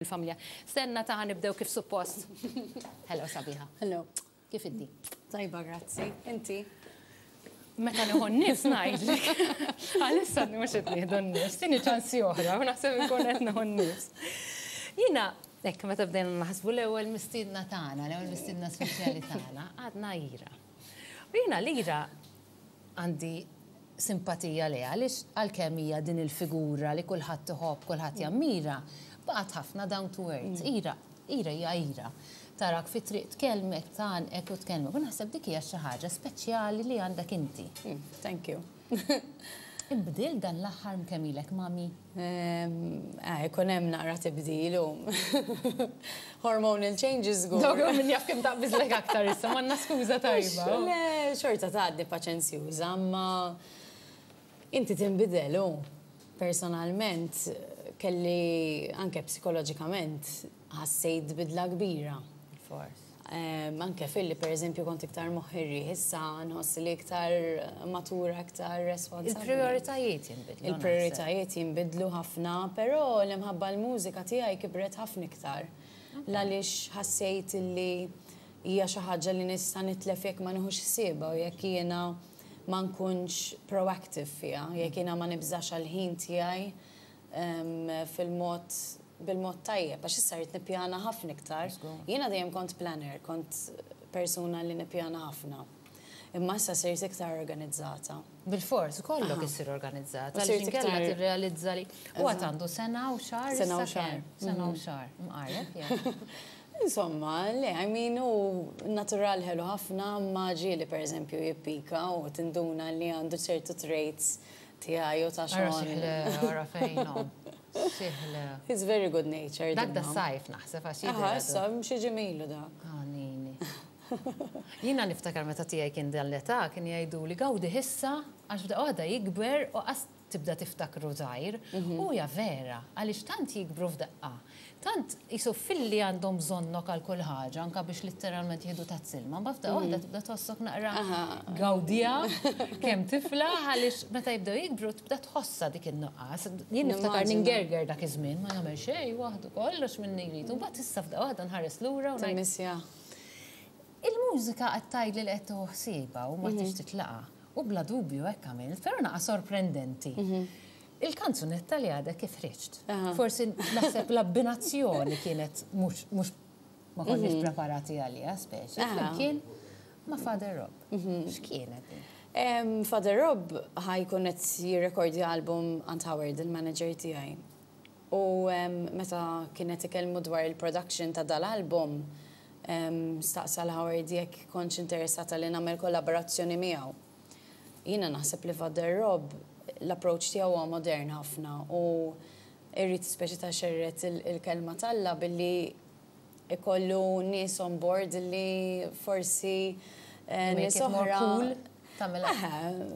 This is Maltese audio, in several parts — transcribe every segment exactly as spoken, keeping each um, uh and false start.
Il-familja. Stenna ta' nibdew kif suppost. Hello, sabiħa. Hello. Kif iddi? Tajba, grazzi. Inti? Meta nieħu n-nifs ngħidlek. Għalissa mhux qed nieħdu n-nifs, tini ċansi oħra, u naħseb inkun qed nieħu n-nifs. Jiena, hekk meta bdejna naħsbu l-ewwel mistiedna tagħna, l-ewwel mistiedna speċjali tagħna, għadna Ira. U jiena l-Ira għandi simpatija li għaliex għalkemm hija din il-figura li kulħadd iħobb, kulħadd jammira, baqgħet ħafna down to earth. Ira, Ira hija Ira. Tarak fi triq tkellmek, tgħannqek u tkellmek. U naħseb dik hija xi ħaġa speċjali li għandek inti. Mm, thank you. Imbdil dan l-aħħar kemm ilek mami? Eh, ikun hemm naqra tibdil u hormonal changes go. Dawk min jaf kemm taqbiżlek aktar issa, m'għandna skuża tajba. Le, xorta tgħaddi paċenzjuża, ma inti tinbidel u personalment kelli anke psikoloġikament ħassejt bidla kbira. Fors. Anke filli per eżempju kont iktar moħħirri, issa nħoss li iktar matura, iktar responsabbli. Il-prioritajiet jinbidlu. Il-prioritajiet jinbidlu ħafna, però l-imħabba l-mużika tiegħi kibret ħafna iktar. Għaliex ħassejt li hija xi ħaġa li nista' nitlef jekk ma nieħux ħsiebha u jekk jiena ma nkunx proactive fiha, jekk jiena ma nibżax għall-ħin tiegħi fil-mod bil-mod tajjeb, għax issa rrid nippjana ħafna iktar. Jiena dejjem kont planner, kont persuna li nippjana ħafna. Imma issa sirt iktar organizzata. Bil-fors, kollok issir organizzata. Għaliex inkella tirrealizza li u għad għandu sena u xahar. Sena u xahar. Sena u xahar. Mqarreb. Insomma, le, I mean, u natural ħelu ħafna, ma ġieli per eżempju jippika u tinduna li għandu ċertu traits tiegħi u ta' Ara xogħol. siħle, ara fejnom. Siħle. He's very good natured. Dak da imma. sajf naħseb għax Aha, jidher issa, xi ġemilu dak. Għanini. Jiena niftakar meta tiegħi kien dan l-età kien jgħidu li gawdi issa għax f'daqqa waħda jikber u qas tibda tiftakru żgħir. U hija vera, għaliex tant jikbru f'daqqa. Tant jisu filli għandhom bżonnok għal kull ħaġa, anka biex literalment jieħdu tazzilma, ma f'daqqa waħda tibda tħossok naqra gawdija kemm tiflaħ għaliex meta jibdew jikbru tibda tħossa dik in-nuqqas. Jien niftakar Nimmaġina. ningerger dak iż-żmien, ma jagħmel xejn waħdu kollox minni jrid. U mbagħad issa f'daqqa waħda nħares lura u ngħid Timmissja. Il-mużika qed tgħidli li qed tieħu ħsiebha u ma tix titlaqa. U bla dubju hekk għamilt, però naqa sorprendenti. Il-kanzunetta li għadha kif ħriġt. Aha. Forsi naħseb l-abbinazzjoni kienet mhux mhux ma konniex preparati għaliha speċi. Aha. Flimkien ma' Father Rob. X'kienet din? Em, Father Rob ħa jkun qed jirrekordja album għand Howard, il-manager tiegħi. U em, meta kienet ikellmu dwar il-production ta' dal-album, em, staqsa l-Howard jekk kontx interessata li nagħmel kollaborazzjoni miegħu. Jiena naħseb li Father Rob l-approach tiegħu huwa modern ħafna u irrid speċi ta' xerret il- il-kelma t'Alla billi ikollu nies on board li forsi eh, Make nies it more oħra. cool, tagħmilha. Eħe,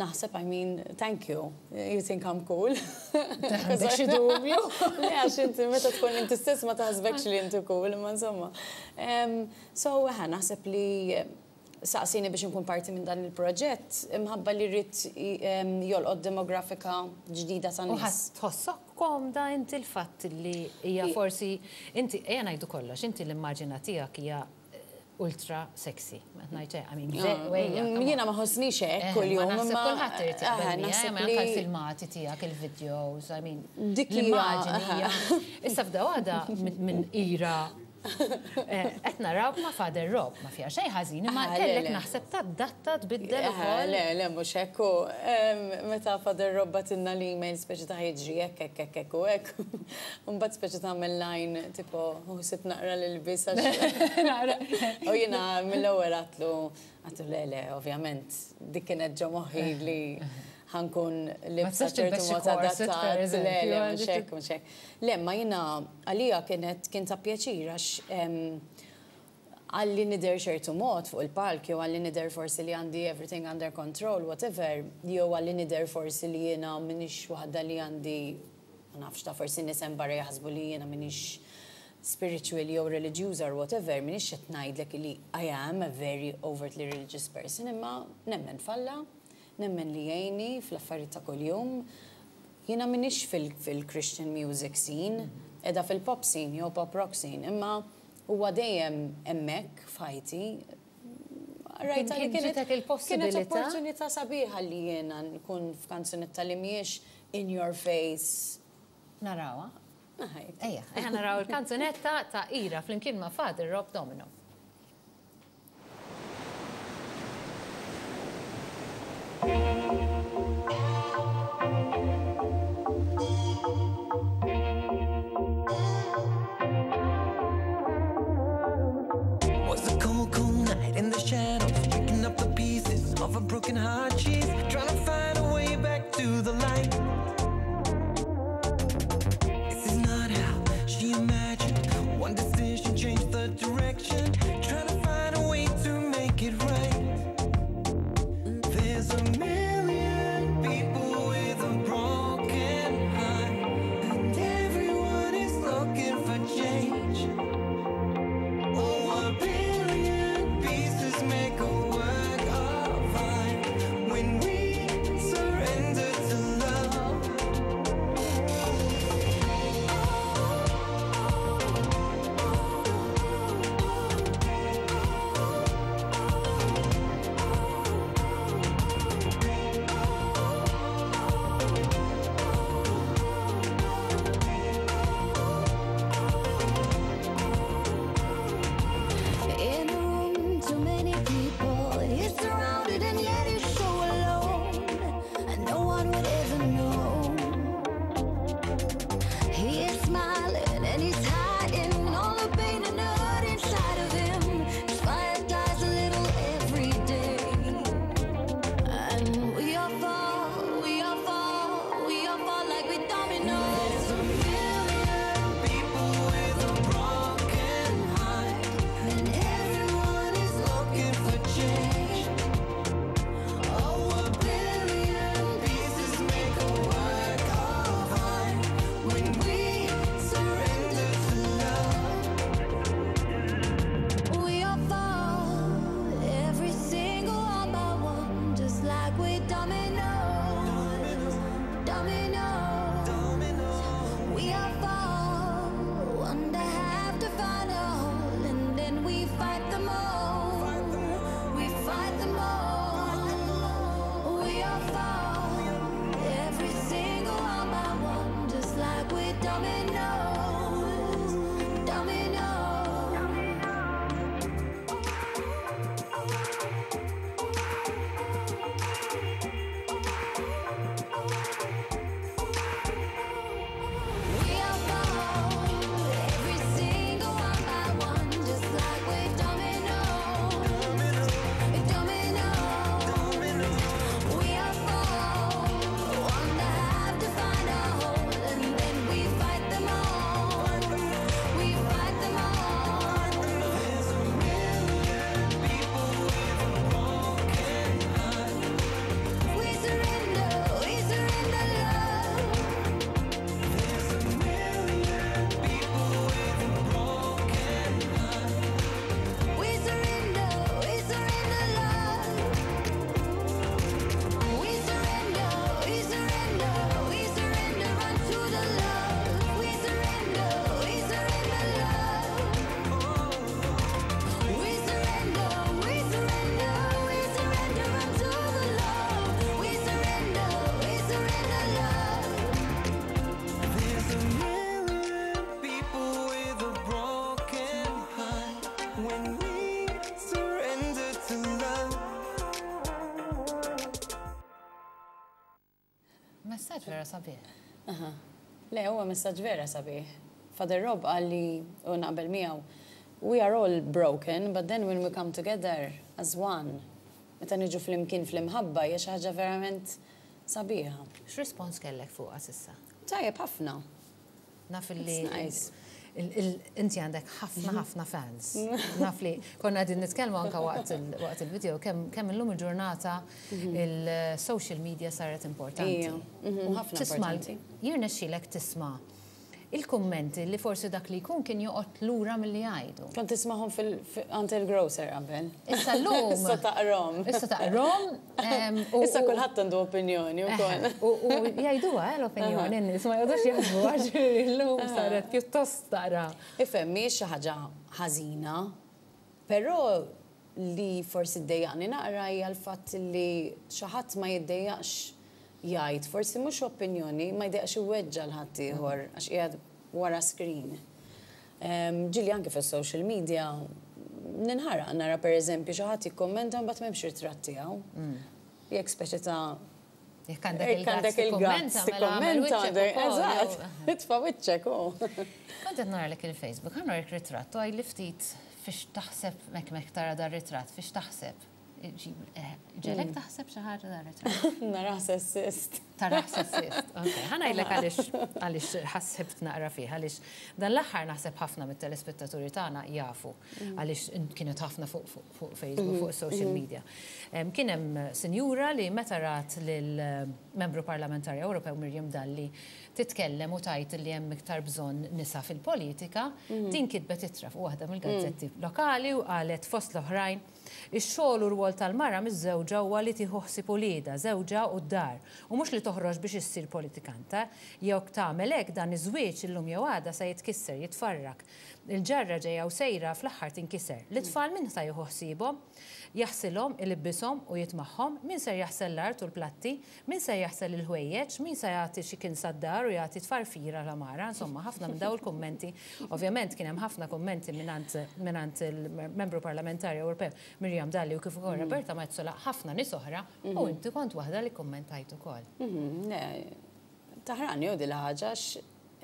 naħseb, I mean, thank you. You think I'm cool. Għandek xi dubju? Le, għax inti meta tkun inti stess ma taħsbekx li inti cool, imma insomma. Em, So, eħe, naħseb li saqsini biex nkun parti minn dan il-proġett, imħabba li rrid jolqot demografika ġdida ta' U nies. ħass tħossok komda inti l-fatt li hija forsi inti ejja ngħidu kollox, inti l-immaġina tiegħek hija eh, ultra sexy. Ma ngħid I mean, wejja, come on. Jiena ma ħossnix hekk Eh, kuljum, ma naħseb imma kulħadd irid eħe, jaqbel miegħi, naħseb ma li anke l-filmati tiegħek, il-videos, I mean, Dik hija- l-immaġini hija. Issa f'da waħda minn minn ira eh, qed naraw ma' Father Rob, ma fiha xejn ħażin, imma Ah, le, kellek le. naħseb tadatta tbiddel Eħe, ukoll. Le, le, mhux hekk u, em, meta Father Rob bagħtilna l-email speċi ta' jiġri hekk, hekk, hekk, hekk u hekk. Mbagħad speċi tagħmel line tipo ħsib naqra l-ilbies għax. U jiena mill-ewwel għedtlu, għedtlu le, le, ovvjament, dik kienet ġo moħħi li ħa nkun libsa tistax tilbes ċertu xi mod corset, per adattat. Le, le, eżempju, mhux hekk, mhux hekk. Le, ma jiena għalija kienet kien ta' pjaċir għax em, għalli nidher ċertu mod fuq il-palk, jew għalli nidher forsi li għandi everything under control, whatever, jew għalli nidher forsi li jiena m'iniex waħda li għandi, ma nafx ta' forsi nies hemm barra jaħsbu li jiena m'iniex spiritual jew religious or whatever, m'iniex qed ngħidlek li I am a very overtly religious person, imma nemmen f'Alla, nemmen li jgħinni fl-affarijiet ta' kuljum. Jiena m'iniex fil-Christian music scene, Qiegħda fil-pop scene jew pop rock scene, imma huwa dejjem hemmhekk f'ħajti. Rajta li kienet kienet opportunità sabiħa li jiena nkun f'kanzunetta li mhijiex in your face. Narawha? Ejja, ejja naraw il-kanzunetta ta' Ira flimkien ma' Father Rob Domino. Was a cold, cold night in the shadows, picking up the pieces of a broken heart. She's trying to find a way back to the light. This is not how she imagined. One decision changed the direction. Trying to find a way to make it right. There's a million people with a broken heart, and everyone is looking for change. Oh, a billion pieces make a work of art when we surrender to love. In a room, too many people. He's surrounded and yet he's so alone. And no one would ever know. He is smiling and he's hiding all the pain and hurt inside of him. His fire dies a little every day. And we all fall, we all fall, we all fall like we dominoes. There's a million people with a broken heart, and everyone is looking for change. Oh, a billion pieces make a work of art when we surrender to love. We all fall, every single one by one, just like we dominoes, dominoes. We all fall, one to have to find a hole, and then we fight them all. We fight them all. We all fall, every single one by one, just like we dominoes, dominoes. We all fall, every single one by one, just like we're dominoes, dominoes. We all fall, one to have to find a hole, and then we fight them all. We fight them all. There's a million people with a broken heart. We surrender, we surrender love. There's a million people with a broken heart. We surrender, we surrender love. We surrender, we surrender, we surrender unto the love. We surrender, we surrender love. We surrender, we surrender, we surrender unto the love. We surrender, we surrender love. There's a million people with a broken heart when we surrender to love. Messaġġ vera sabiħ. Aha. Le, huwa messaġġ vera sabiħ. Father Rob qal li u naqbel miegħu, we are all broken, but then when we come together as one, meta niġu flimkien fl-imħabba hija xi ħaġa verament sabiħa. X'rispons kellek fuqha s'issa? Tajjeb ħafna. Naf li It's nice. il- il- inti għandek ħafna ħafna fans. Naf li konna qegħdin nitkellmu anka waqt il- waqt il-video kemm kemm illum il-ġurnata il-social media saret importanti. Ija, mhm, U ħafna tisma' importanti. Jirnexxilek tisma' Il-kummenti li forsi dak li jkun kien joqgħod lura milli jgħidu. Kont tismagħhom għand il-grocer qabel. Issa llum. Issa taqrahom. Issa taqrahom. Issa kulħadd għandu opinjoni wkoll. U jgħiduha eh, l-opinjoni, n-nies ma jgħodux jaħsbu għax illum saret pjuttost taqra. Ifhem, mhijiex xi ħaġa ħażina, però li forsi ddejjaqni naqra hija l-fatt li xi ħadd ma jiddejjaqx jgħid, forsi mhux opinjoni, ma jdejjaqx iweġġa' 'l ħaddieħor għax qiegħed wara screen. Ġieli anke fis-social media ninħaraq nara, pereżempju, xi ħadd jikkommenta, mbagħad m'hemmx ritratt tiegħu. Jekk speċi ta' Jekk għandek il-guts tikkommenta, eżatt, itfa' wiċċek u. Kont qed naralek il-Facebook, ħa nurik ritratt u għidli ftit fiex taħseb mek mek tara dar ritratt, fiex taħseb. Ġiegħlek taħseb xi ħaġa dar ritratt? Nara sessist. Tara sessist. Ok, ħa ngħidlek għaliex għaliex ħassibt naqra fih, għaliex dan l-aħħar naħseb ħafna mit-telespettaturi tagħna jafu għaliex kienet ħafna fuq Facebook, fuq social media. Kien hemm sinjura li meta rat lill-membru parlamentari Ewropew Miriam Dalli titkellem u tgħid li hemm iktar bżonn nisa fil-politika, din kitbet ittra fuq waħda mill-gazzetti lokali u qalet fost l-oħrajn: "Ix-xogħol u rwol tal-mara miż-żewġa huwa li tieħu ħsieb uliedha, żewġha u d-dar, u mhux li toħroġ biex issir politikanta. Jekk tagħmel hekk, dan iż-żwieġ illum jew għada se jitkisser, jitfarrak. Il-ġarra ġejja u sejra fl-aħħar tinkiser. L-itfal min sa jieħu ħsiebhom? Jaħsilhom, ilibbishom u jitmagħhom? Min ser jaħsel l-art u l-platti? Min ser jaħsel il-ħwejjeġ? Min se jagħti xi kien sad-dar u jagħti tfarfira l-għamara?" Insomma, ħafna minn daw il-kummenti. Ovvjament kien hemm ħafna kummenti mingħand il-membru parlamentari Ewropew Miriam Dalli u kif ukoll Roberta Metsola, ħafna nies oħra, u inti kont waħda li kummentajt ukoll. Mhm, taħraqni u din ħaġa,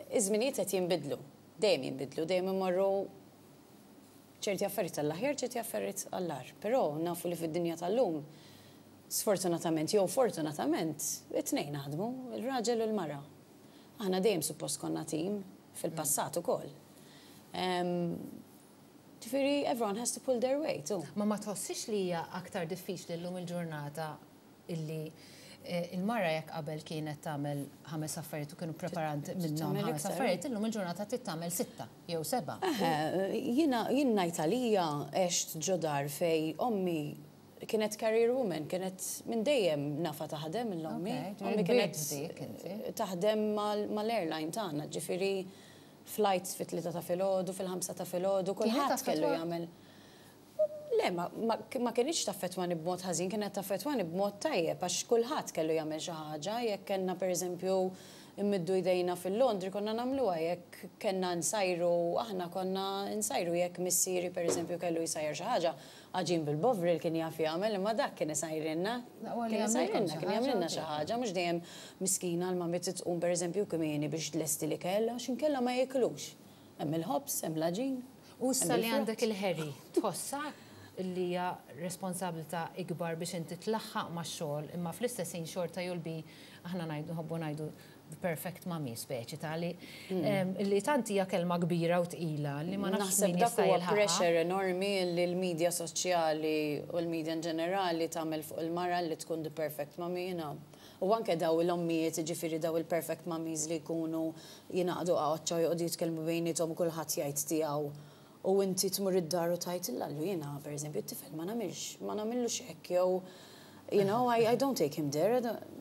iż-żminijiet qed jinbidlu, dejjem jinbidlu, dejjem imorru ċerti affarijiet għall-aħjar, ċerti affarijiet għall-agħar. Però nafu li fid-dinja tal-lum, sfortunatament jew fortunatament, it-tnejn naħdmu, il-raġel u l-mara. Aħna dejjem suppost konna tim fil-passat ukoll. Ġifieri, everyone has to pull their weight. Ma ma tħossix li hija aktar diffiċli llum il-ġurnata illi eh, il-mara jekk qabel kienet tagħmel ħames affarijiet u kienu preparant minnhom ħames affarijiet, illum il-ġurnata trid tagħmel sitta jew seba'? Jiena jien ngħid għalija għext ġo dar fejn ommi kienet career woman, kienet minn dejjem nafha taħdem l-ommi. Ommi kienet taħdem mal-airline tagħna, ġifieri flights fit-tlieta ta' filgħodu, fil-ħamsa ta' filgħodu, kulħadd kellu jagħmel. Le, ma, ma, ma kienx taffettwani b'mod ħażin, kienet taffettwani b'mod tajjeb, għax kulħadd kellu jagħmel xi ħaġa, jekk kellna, pereżempju, immiddu jdejna fil-laundry, konna nagħmluha, jekk kellna nsajru, aħna konna nsajru, jekk missieri, pereżempju, kellu jsajjar xi ħaġa, għaġin bil-bovril kien jaf jagħmel, imma dak kien isajrilna. Kien isajrilna, kien jagħmlilna xi ħaġa, mhux dejjem miskina l-mami tqum, pereżempju, kmieni biex tlesti l-ikel, għax inkella ma jiklux. Hemm il-ħobż, hemm l-għaġin. U issa li għandek il-Harry, tħossha li hija responsabilità ikbar biex inti tlaħħaq ma' xogħol imma fl-istess ħin xorta you'll be, aħna ngħidu, nħobbu ngħidu, the perfect mommy, speċi ta' li li tant hija kelma kbira u tqila li ma nafx Naħseb min dak jista' huwa jilħaqha. pressure enormi li l-medja soċjali u l-medja in ġenerali tagħmel fuq il-mara li tkun the perfect mommy, you know. U anke daw l-ommijiet, ġifieri daw il-perfect mummies li jkunu jingħaqdu għoċċa u joqogħdu jitkellmu bejniethom u kulħadd jgħid tiegħu. U inti tmur id-dar u tgħid illallu jiena, pereżempju, it-tifel ma nagħmilx, ma nagħmillux hekk jew you know, I, I don't take him there. I don't-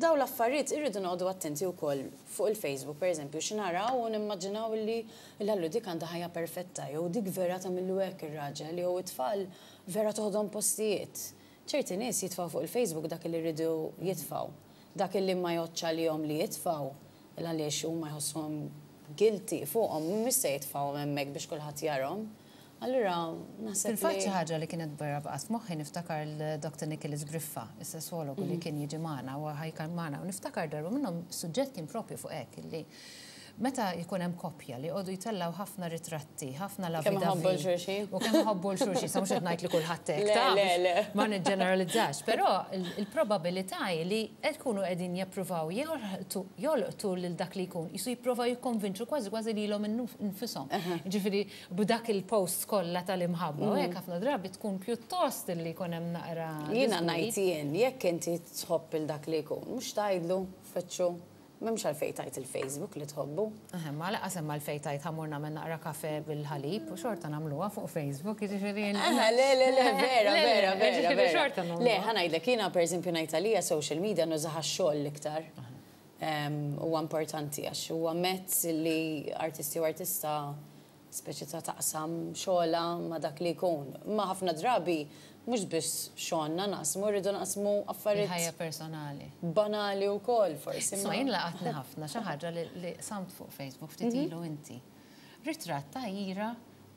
Daw l-affarijiet irridu noqogħdu attenti wkoll fuq il-Facebook, pereżempju, x'naraw u nimmaġinaw li l-allu dik għandha ħajja perfetta, jew dik vera tagħmillu hekk ir-raġel, jew it-tfal vera toħodhom postijiet. Ċerti nies jitfgħu fuq il-Facebook dak li rridu jitfgħu. Dak li ma jogħġobx lilhom li jitfgħu, għaliex huma jħossuhom guilty fuqhom, mhux se jitfgħu hemmhekk biex kulħadd jarahom. Allura, naħseb Fil-fatt li- xi ħaġa li kienet barra baqgħet f'moħħi, niftakar l-Doktor Nicholas Briffa, is-sesswologu li kien jiġi magħna u ħajkan magħna, u niftakar darba minnhom suġġett kien propju fuq hekk illi meta jkun hemm koppja li jqogħdu jtellgħu ħafna ritratti, ħafna lovey Kemm iħobbu 'l xulxin. U kemm iħobbu 'l xulxin, sa mhux qed ngħid li kulħadd hekk Le, ta' le, biex le. ma niġġeneralizzax, però il- il-probabilità hi li qed jkunu qegħdin jippruvaw jolqtu jolqtu lil dak li jkun, jisu jippruvaw jikkonvinċu kważi kważi lilhom infushom. Ġifieri b'dak il-post kollha tal-imħabba, u hekk ħafna drabi tkun pjuttost li jkun hemm naqra Jiena disgwid. ngħid jien, jekk inti tħobb il dak li jkun, mhux tgħidlu feċċu. M'hemmx għalfejn tgħid il-Facebook li tħobbu. Eħe, ma lanqas hemm għalfejn tgħid ħa mmur nagħmel naqra kafe bil-ħalib u xorta nagħmluha fuq Facebook, jiġifieri. Aha, le, le, le, vera, Le, le, vera, vera, jiġifieri vera. xorta nagħmluha. Le, ħa ngħidlek, jiena per eżempju ngħid għalija social media nużaha xogħol l-iktar. Em, Huwa importanti għax huwa mezz li artisti u artista speċi ta' taqsam xogħla ma' dak li jkun. Ma ħafna drabi mhux biss xogħolna naqsmu, rridu naqsmu Il-ħajja affarijiet personali. banali wkoll forsi. Isma' ma- jien laqatni ħafna xi ħaġa li li qsamt fuq Facebook ftit Mhm. ilu inti. Ritratt ta' Ira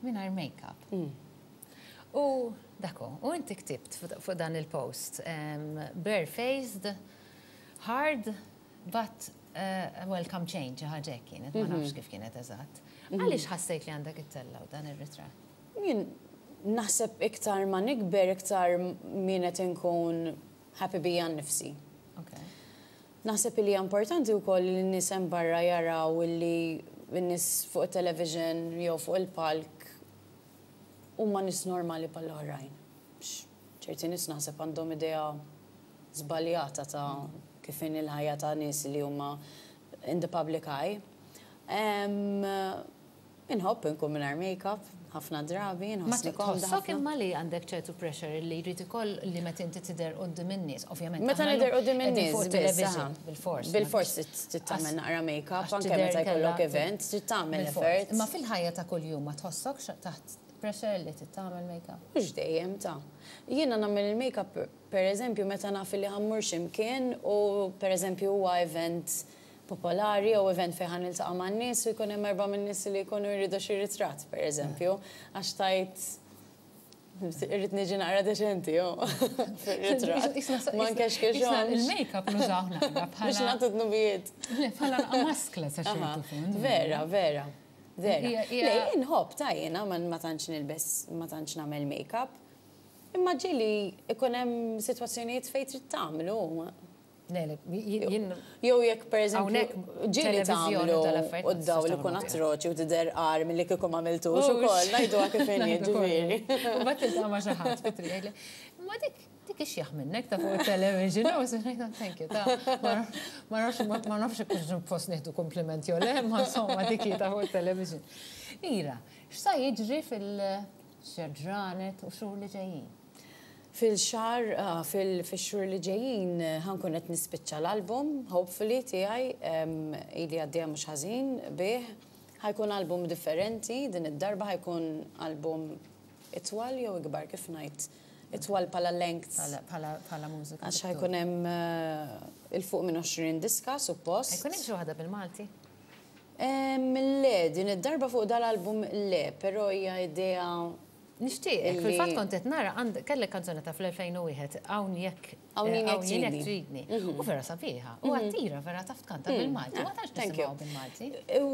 mingħajr make-up. Mm. U dako, u inti ktibt fuq fuq dan il-post, um, bare-faced, hard, but uh, welcome change, ħaġa hekk kienet, ma Mhm. nafx kif kienet eżatt. Għaliex ħassejt li għandek ittellgħu dan ir-ritratt? Jien naħseb iktar ma nikber, iktar min qed inkun happy bija nnifsi. Okay. Naħseb li hija importanti wkoll li n-nies hemm barra jaraw li n-nies fuq il-television jew fuq il-palk huma nies normali bħall-oħrajn. X- ċerti nies naħseb għandhom idea żbaljata ta' kif inhi il-ħajja ta' nies li huma in the public eye. Em, Inħobb inkun mingħajr make-up, ħafna drabi, Ma nħossni komda tħossok ħafna. imma li għandek ċertu pressure li jrid ikoll li meta inti tidher quddiem in-nies, ovvjament. Meta aħna nidher llum quddiem qegħdin in-nies, fuq biss, television, aha. bil-fors. Bil-fors trid tagħmel naqra make-up, Għax anke tidher meta jkollok kellha- event, trid tagħmel bil-fors. effort. Imma fil-ħajja ta' kuljum ma tħossokx taħt pressure li trid tagħmel make-up. Mhux dejjem ta' jiena nagħmel il-make-up per eżempju meta naf li ħa mmur x'imkien u per eżempju huwa event popolari jew event fejn ħa niltaqa' man-nies u jkun hemm erba' min-nies li jkunu jridu xi ritratt per eżempju, għax tajt irrid niġi naqra deċenti jo fir-ritratt. Ma nkexkexhomx. Il-make-up nużaw naqra Biex bħala nagħtu dnubijiet. Le, bħala naqra maskla sa Aha, ċertu punt. Vera, vera. Vera. Hija- hija- Le, inħobb ta' jiena ma ma tantx nilbes, ma tantx nagħmel make-up. Imma ġieli ikun hemm sitwazzjonijiet fejn trid tagħmlu. Le, le, jien Jew jekk per eżempju Hawnhekk ġieli televiżjoni tagħmlu tal-affarijiet u ma d-dawl tistax ikun tagħmlu. atroċi u tidher agħar milli kieku ma għamiltux ukoll, ngħiduha kif inhi ġifieri. U mbagħad tiltaqa' ma' xi ħadd fit-triq jgħidli, Ma dik dik ixjaħ minnek ta' fuq il-television, u ngħid thank you, ta' ma nafx ma nafx kux post nieħdu komplimenti jew le, ma insomma dik hi ta' fuq il-television. Ira, x'sa jiġri fil-xaġranet u xhur li ġejjin? Fil-xahar, ah, fil-xhur li ġejjin, ħa nkun qed nispiċċa l-album, hopefully tiegħi, em, ili għaddejja mhux ħażin bih. Ħa jkun album differenti, din id-darba ħa jkun album itwal jew ikbar kif ngħid. Itwal bħala length. Bħala bħala mużika. Għax ħa jkun hemm eh, 'il fuq minn għoxrin diska, suppost. Ħa jkun hemm xi waħda bil-Malti? Em, Le, din id-darba fuq dal-album le, però hija idea Nixtieqek, Illi- fil-fatt kont qed nara għand kellek kanzunetta fl-elfejn u wieħed "Hawn Jekk Hawn Jien Jekk Hawn Jien Jekk Tridni". Tridni. U vera sabiħa. U għattira vera taf tkanta bil-Malti. Ma tantx Thank you. nisimgħu bil-Malti.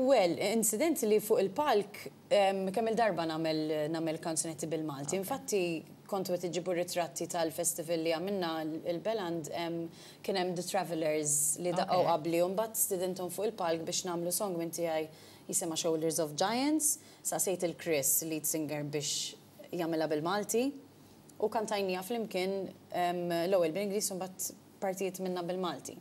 Well, incident li fuq il-palk, em, kemm il-darba nagħmel nagħmel kanzunetti bil-Malti. Infatti, kontu qed iġibu ritratti tal-festival li għamilna il-Beland, em, kien hemm The Travelers li daqqaw Okay. qabli u mbagħad stidinthom fuq il-palk biex nagħmlu song minn tiegħi jisimha "Shoulders of Giants". Saqsejt il-Chris, lead singer, biex jagħmilha bil-Malti. U kantajnieha flimkien em, l-ewwel bil-Ingliż u mbagħad partijiet minna bil-Malti.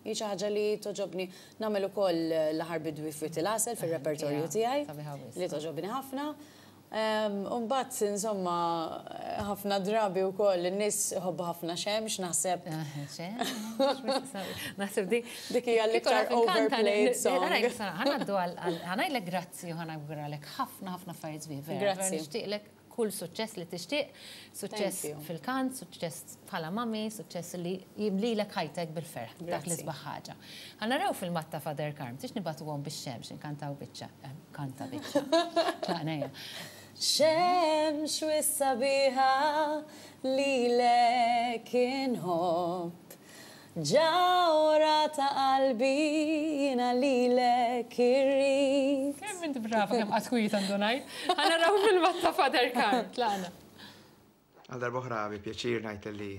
Hi xi ħaġa li togħġobni nagħmel ukoll "L-Aħħar Bidwi f'Wied il-Għasel" fir-repertorju Ja, tiegħi sabiħa wisq. li togħġobni ħafna. U mbagħad insomma ħafna drabi wkoll in-nies iħobbu ħafna "Xemx", naħseb. Naħseb di. Dik hija l-iktar overplayed song. Ħa ngħaddu ħa ngħidlek grazzi u ħa nawguralek ħafna ħafna affarijiet sbieħ. Vera. Grazzi. Vera nixtieqlek kull suċċess li tixtieq, suċċess Thank you. fil-kant, suċċess bħala mami, suċċess li jimlilek ħajtek bil-ferħ, dak li Grazzi. sbaħ ħaġa. Ħa naraw filmat ta' Father Karm, tix nibagħtuhom bix-xemx, inkantaw biċċa, eh, kanta biċċa. Tlaqna hija. Xemx wisq sabiħa lilek inħobb, ġawhra ta' qalbi jiena lilek irrid. Kemm inti brava, kemm qatt kwiet għandu ngħid. Ħa naraw filmat ta' Father Karm, tlaqna. Għal darb'oħra bi pjaċir ngħid li